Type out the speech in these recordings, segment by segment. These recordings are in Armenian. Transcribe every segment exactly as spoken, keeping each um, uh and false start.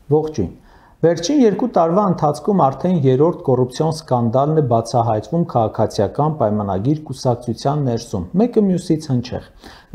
Ողջույն։ Վերջին երկու տարվա ընթացքում արդեն երրորդ կոռուպցիոն սկանդալն է բացահայտվում քաղաքացիական պայմանագիր կուսակցության ներսում, մեկը մյուսից հնչեղ։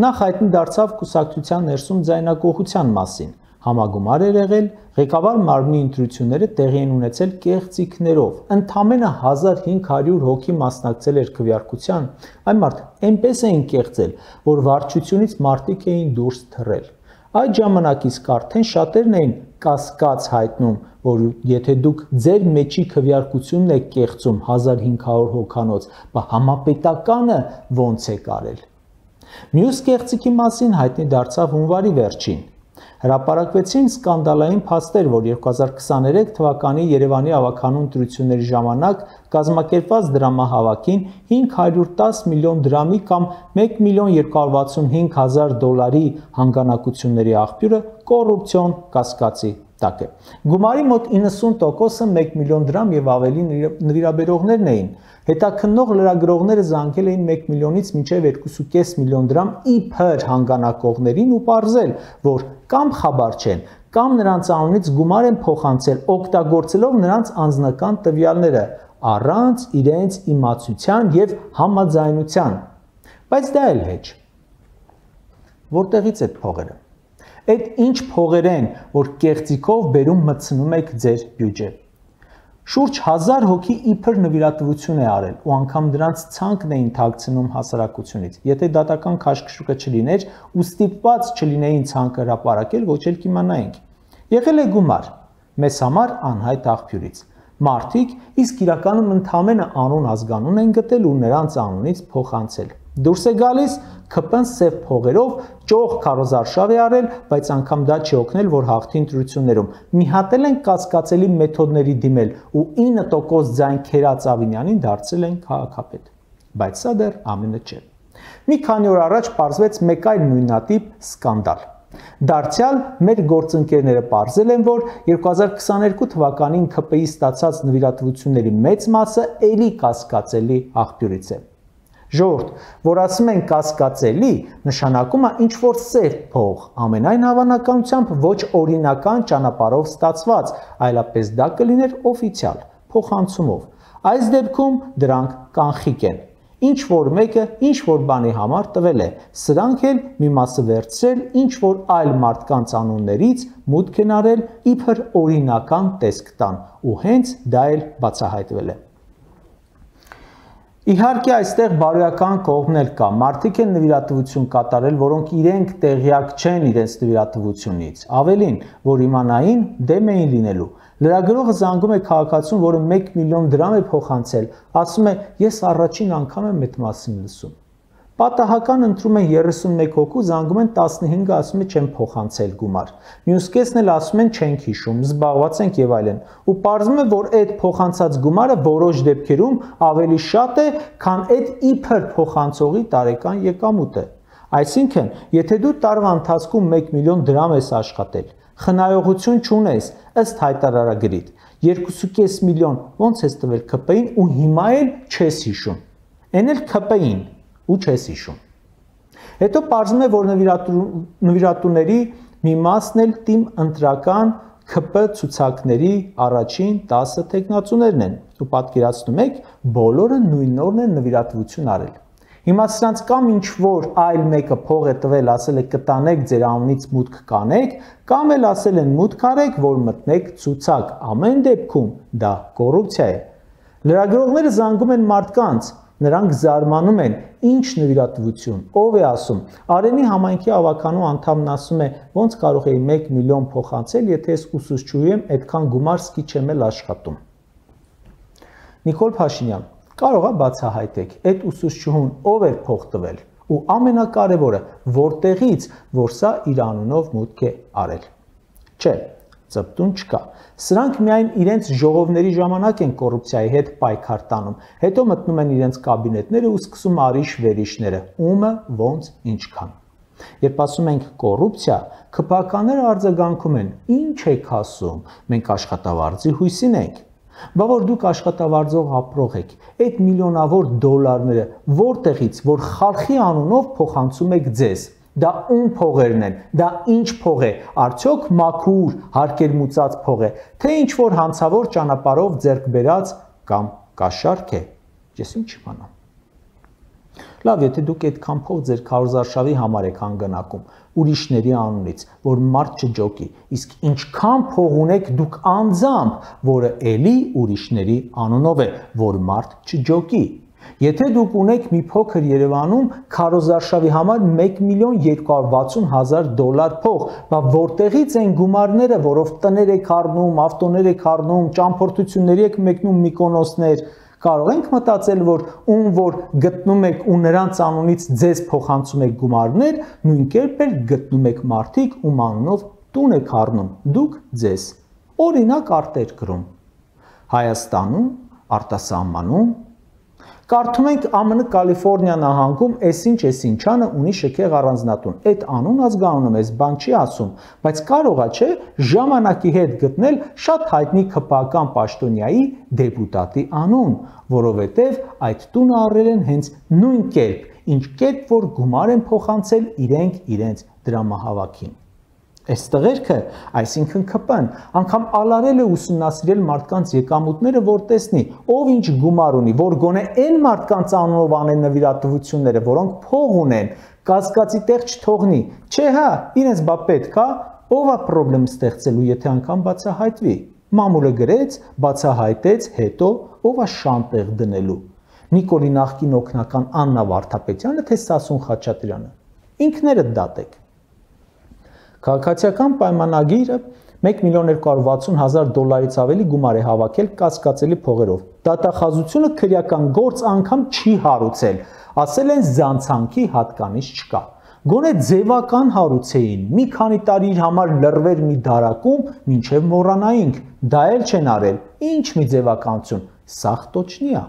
Նախ հայտնի դարձավ կուսակցության ներսում ձայնագողության մասին։ Համագումար էր եղել, ղեկավար մարմնի ընտրությունները տեղի են ունեցել կեղծիքներով։ Ընդամենը հազար հինգ հարյուր հոգի մասնակցել էր քվեարկության, այն մարդ այնպես էին կեղծել, որ վարչությունից մարդիկ էին դուրս թռել։ Այդ ժամանակից արդեն շատերն էին կասկած հայտնում, որ եթե դուք ձեր մեջի քվեարկությունն եք կեղծում հազար հինգ հարյուր հոգանոց, բա համապետականը ոնց է կարել։ Մյուս կեղծիքի մասին հայտնի դարձավ հունվարի վերջին։ Հրապարակվեցին սկանդալային փաստեր, որ երկու հազար քսաներեք թվականի Երևանի ավագանու ընտրությունների ժամանակ կազմակերպված դրամահավաքին հինգ հարյուր տաս միլիոն դրամի կամ մեկ միլիոն երկու հարյուր վաթսունհինգ հազար դոլարի հանգանակությունների աղբյուրը կոռուպցիոն կասկածի տակ է։ Գումարի մոտ իննսուն տոկոսը մեկ միլիոն դրամ եւ ավելի նվիրաբերողներն էին։ Հետաքննող լրագրողները զանգել էին մեկ միլիոնից մինչև երկու կես միլիոն դրամ իբր հանգանակողներին ու պարզել, որ կամ խաբար չեն, կամ նրանց անունից գումար են փոխանցել, օգտագործելով նրանց անձնական տվյալները, առանց իրենց իմացության եւ համաձայնության։ Բայց դա էլ հեչ։ Որտեղից այդ փողերը։ Այդ ինչ փողեր են, որ կեղծիքով բերում մտցնում եք ձեր բյուջե։ Շուրջ հազար հոգի իբր նվիրատվություն է արել ու անգամ դրանց ցանկն էին թաքցնում հասարակությունից։ Եթե դատական քաշքշուկը չլիներ ու ստիպված չլինեին ցանկը հրապարակել, ոչ էլ կիմանայինք։ Եղել է գումար, մեզ համար անհայտ աղբյուրից։ Մարդիկ իսկ իրականում ընդամենը անուն ազգանուն են գտել ու նրանց անունից փոխանցել։ Դուրս է գալիս ՔՊ-ն սև փողերով ճոխ քարոզարշավ է արել, բայց անգամ դա չի օգնել, որ հաղթի ընտրություններում։ Մի հատ էլ են կասկածելի մեթոդների դիմել ու ինը տոկոս ձայն քերած Ավինյանին դարձրել են քաղաքապետ։ Բայց սա դեռ ամենը չէ։ Մի քանի օր առաջ պարզվեց մեկ այլ նույնատիպ սկանդալ։ Դարձյալ մեր գործընկերները պարզել են, որ երկու հազար քսաներկու թվականին ՔՊ-ի ստացած նվիրատվությունների մեծ մասը էլի կասկածելի աղբյուրից է։ Ժողովուրդ, որ ասում են կասկածելի, նշանակում է ինչ-որ սև փող, ամենայն հավանականությամբ ոչ օրինական ճանապարհով ստացված, այլապես դա կլիներ օֆիցիալ, փոխանցումով։ Այս դեպքում դրանք կանխիկ են։ Ինչ-որ մեկը ինչ-որ բանի համար տվել է, սրանք էլ մի մասը վերցրել ինչ-որ այլ մարդկանց անուններից մուտք են արել իբր օրինական տեսք տան, ու հենց դա էլ բացահայտվել է։ Իհարկե այստեղ բարոյական կողմն էլ կա, մարդիկ են նվիրատվություն կատարել, որոնք իրենք տեղյակ չեն իրենց նվիրատվությունից, ավելին, որ իմանային դեմ էին լինելու։ Լրագրողը զանգում է քաղաքացուն, որը մեկ միլիոն դրամ է փոխանցել, ասում է, ես առաջին անգամ եմ այդ մասին լսում։ Պատահական ընտրում են երեսունմեկ հոգու, զանգում են տասնհինգը, ասում է չեմ փոխանցել գումար։ Մյուս կեսն էլ ասում են չենք հիշում, զբաղված ենք եւ այլն։ Ու պարզվում է, որ այդ փոխանցած գումարը որոշ դեպքերում ավելի շատ է, քան այդ իբր փոխանցողի տարեկան եկամուտը։ Այսինքն, եթե դու տարվա ընթացքում մեկ միլիոն դրամ ես աշխատել, խնայողություն չունես, ըստ հայտարարագրիդ, երկու կես միլիոն ոնց ես տվել ՔՊ-ին ու հիմա էլ չես հիշում։ Էն էլ ՔՊ-ին ու չես հիշում։ Հետո պարզվում է, որ նվիրատուների մի մասն էլ թիմ ընտրական ՔՊ ցուցակների առաջին տասը թեկնածուներն են ու պատկերացնում եք, բոլորը նույն օրն են նվիրատվություն արել։ Հիմա սրանց կամ ինչ-որ այլ մեկը փող է տվել, ասել է կտանեք ձեր անունից մուտք կանեք, կամ էլ ասել են մուտք արեք, որ մտնեք ցուցակ։ Ամեն դեպքում դա կոռուպցիա է։ Լրագրողները զանգում են մարդկանց, նրանք զարմանում են, ինչ նվիրատվություն, ով է ասում։ Արենի համայնքի ավականու անդամն ասում է, ոնց կարող էի մեկ միլիոն փոխանցել, եթե ես ուսուցչուհի եմ, այդքան գումար սկի չեմ էլ աշխատում։ Նիկոլ Փաշինյան, կարող է բացահայտեք, այդ ուսուցչուհուն ով էր փող տվել, ու ամենակարևորը, որտեղից, որ սա իր անունով մուտք է արել։ Չէ, ծպտուն չկա։ Սրանք միայն իրենց ժողովների ժամանակ են կոռուպցիայի հետ պայքար տանում, հետո մտնում են իրենց կաբինետները ու սկսում արիշ-վերիշները, ումը ոնց ինչքան։ Երբ ասում ենք կոռուպցիա, ՔՊ-ականները արձագանքում են, ինչ եք ասում, մենք աշխատավարձի հույսին ենք։ Բա որ դուք աշխատավարձով ապրող եք, այդ միլիոնավոր դոլարները որտեղից, որ խալխի անունով փոխանցում եք ձեզ, Դա ում փողերն են, դա ինչ փող է, արդյոք մաքուր, հարկերմուծած փող է, թե ինչ որ հանցավոր ճանապարհով ձեռք բերած կամ կաշառք է, ես ինչ իմանամ։ Լավ, եթե դուք այդքան փող ձեր քարոզարշավի համար եք հանգանակում, ուրիշների անունից, որ մարդ չջոկի, իսկ ինչքան փող ունեք դուք անձամբ, որը էլի ուրիշների անունով է, որ մարդ չջոկի։ Եթե դուք ունեք մի փոքր Երևանում քարոզարշավի համար մեկ միլիոն երկու հարյուր վաթսուն հազար դոլար փող, բա որտեղից են գումարները, որով տներ եք առնում, ավտոներ եք առնում, ճամփորդությունների եք մեկնում Միկոնոսներ, կարող ենք մտածել, որ ում որ գտնում եք ու նրանց անունից ձեզ փոխանցում եք գումարներ, նույն կերպ էլ գտնում եք մարդիկ, ում անունով տուն եք առնում, դուք ձեզ։ Օրինակ արտերկրում, Հայաստանում, արտասահմանում, կարդում ենք Ամն Կալիֆոռնիա նահանգում այսինչ այսինչանը ունի շքեղ առանձնատուն։ Այդ անուն ազգանունը մեզ բան չի ասում, բայց կարողա չէ ժամանակի հետ գտնել շատ հայտնի քպական պաշտոնյայի դեպուտատի անուն, որովհետև այդ տունը առել են հենց նույն կերպ, ինչ կերպ որ գումար են փոխանցել իրենք իրենց դրամահավաքին։ Այս տղերքը, այսինքն ՔՊ-ն, անգամ ալարել է ուսումնասիրել մարդկանց եկամուտները, որ տեսնի, ով ինչ գումար ունի, որ գոնե այն մարդկանց անունով անեն նվիրատվությունները, որոնք փող ունեն, կասկածի տեղ չթողնի։ Չէ, հա, իրենց բա պետք է, ով է խնդրեմ ստեղծելու, եթե անգամ բացահայտվի։ Մամուլը գրեց, բացահայտեց, հետո ով է շանտեղ դնելու։ Նիկոլի նախկին օգնական Աննա Վարդապետյանը, թե Սասուն Խաչատրյանը։ Ինքներդ դատեք։ Քաղաքացիական պայմանագիրը մեկ միլիոն երկու հարյուր վաթսուն հազար դոլարից ավելի գումար է հավաքել կասկածելի փողերով։ Դատախազությունը քրեական գործ անգամ չի հարուցել, ասել են զանցանքի հատկանիշ չկա։ Գոնե ձևական հարուցեին, մի քանի տարի իր համար լրվեր մի դարակում, մինչև մոռանայինք, դա էլ չեն արել, ինչ մի ձևականություն, սաղ տոչնի է։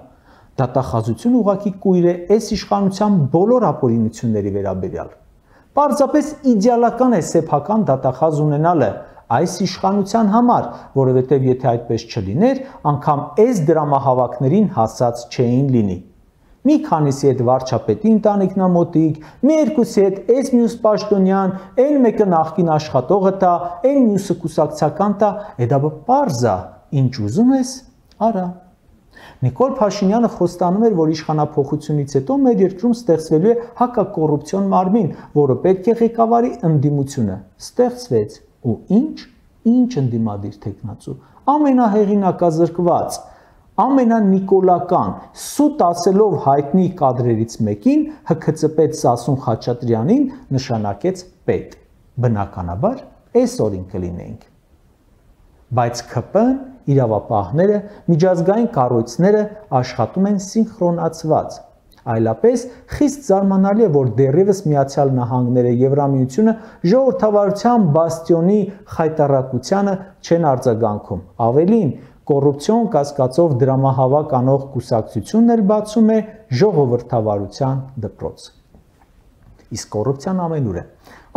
Դատախազությունը ուղղակի կույր է այս իշխանության բոլոր ապօրինությունների վերաբերյալ։ Պարզապես իդեալական է սեփական դատախազ ունենալը այս իշխանության համար, որովհետև եթե այդպես չլիներ, անգամ այս դրամահավաքներին հասած չէին լինի։ Մի քանիսի հետ վարչապետի ընտանիքնամոտիկ, մի երկուսի հետ այս մյուս պաշտոնյան, այն մեկը նախկին աշխատողը տա, այն մյուսը կուսակցական տա, դա պարզ է, ինչ ուզում ես, արա։ Նիկոլ Փաշինյանը խոստանում էր, որ իշխանափոխությունից հետո մեր երկրում ստեղծվելու է հակակոռուպցիոն մարմին, որը պետք է ղեկավարի ընդդիմությունը։ Ստեղծվեց, ու ինչ, ինչ ընդդիմադիր թեկնածու, ամենահեղինակազրկված, ամենանիկոլական, սուտ ասելով հայտնի կադրերից մեկին ՀՔԾՊետ Սասուն Խաչատրյանին նշանակեց պետ։ Բնականաբար, այսօրին կլինենք։ Բայց ՔՊ-ն, իրավապահները, միջազգային կառույցները աշխատում են սինխրոնացված։ Այլապես խիստ զարմանալի է, որ դեռևս Միացյալ Նահանգները, Եվրամիությունը ժողովրդավարության բաստիոնի խայտառակությանը չեն արձագանքում։ Ավելին, կոռուպցիոն կասկածով դրամահավաք անող կուսակցությունն էլ բացում է ժողովրդավարության դպրոց։ Իսկ կոռուպցիան ամենուր է,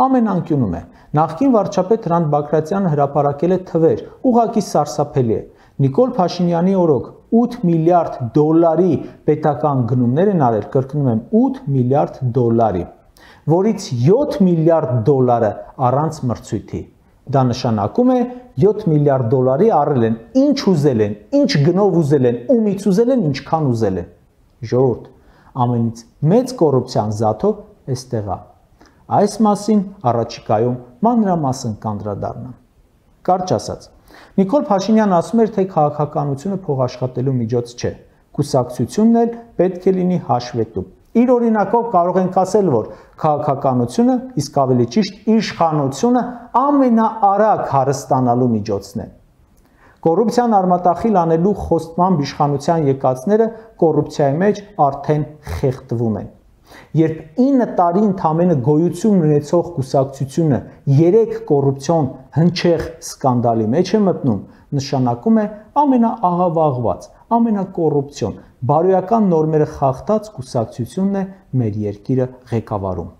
ամեն անկյունում է։ Նախկին վարչապետ Հրանտ Բագրատյանը հրապարակել է թվեր, ուղղակի սարսափելի է։ Նիկոլ Փաշինյանի օրոք ութ միլիարդ դոլարի պետական գնումներ են արել, կրկնում եմ, ութ միլիարդ դոլարի, որից յոթ միլիարդ դոլարը առանց մրցույթի։ Դա նշանակում է յոթ միլիարդ դոլարի առել են, ինչ ուզել են, ինչ գնով ուզել են, ումից ուզել են, ինչքան ուզել են։ Ժողովուրդ, ամենից մեծ կոռուպցիան զաթո էստեղ է։ Այս մասին առաջիկայում մանրամասն կանդրադառնամ։ Կարճ ասած, Նիկոլ Փաշինյանն ասում էր, թե քաղաքականությունը փոխաշխատելու միջոց չէ, կուսակցությունն էլ պետք է լինի հաշվետու։ Իր օրինակով կարող ենք ասել, որ քաղաքականությունը, իսկ ավելի ճիշտ իշխանությունը ամենաարագ հարստանալու միջոցն է։ Կոռուպցիան արմատախիլ անելու խոստմամբ իշխանության եկածները կոռուպցիայի մեջ արդեն խեղդվում են։ Երբ ինը տարի ընդամենը գոյություն ունեցող կուսակցությունը երեք կոռուպցիոն հնչեղ սկանդալի մեջ է մտնում, նշանակում է ամենաաղավաղված, ամենակոռուպցիոն, բարոյական նորմերը խախտած կուսակցությունն է մեր երկիրը ղեկավարում։